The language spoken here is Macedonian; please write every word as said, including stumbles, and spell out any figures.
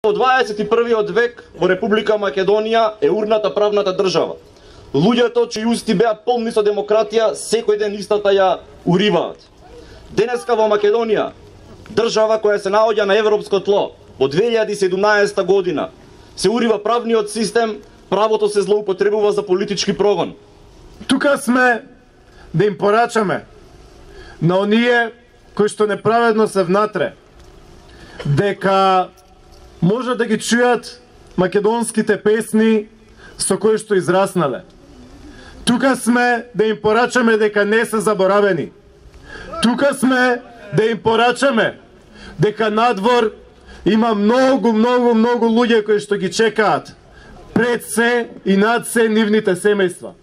во дваесет и првиот век во Република Македонија е урната правната држава. Луѓето чии усти беа полни со демократија, секој ден истата ја уриваат. Денеска во Македонија, држава која се наоѓа на европско тло, во две илјади и седумнаесета година, се урива правниот систем, правото се злоупотребува за политички прогон. Тука сме да им порачаме на оние кои што неправедно се внатре, дека може да ги чујат македонските песни со кои што израснале. Тука сме да им порачаме дека не се заборавени. Тука сме да им порачаме дека надвор има многу, многу, многу луѓе кои што ги чекаат пред се и над се нивните семејства.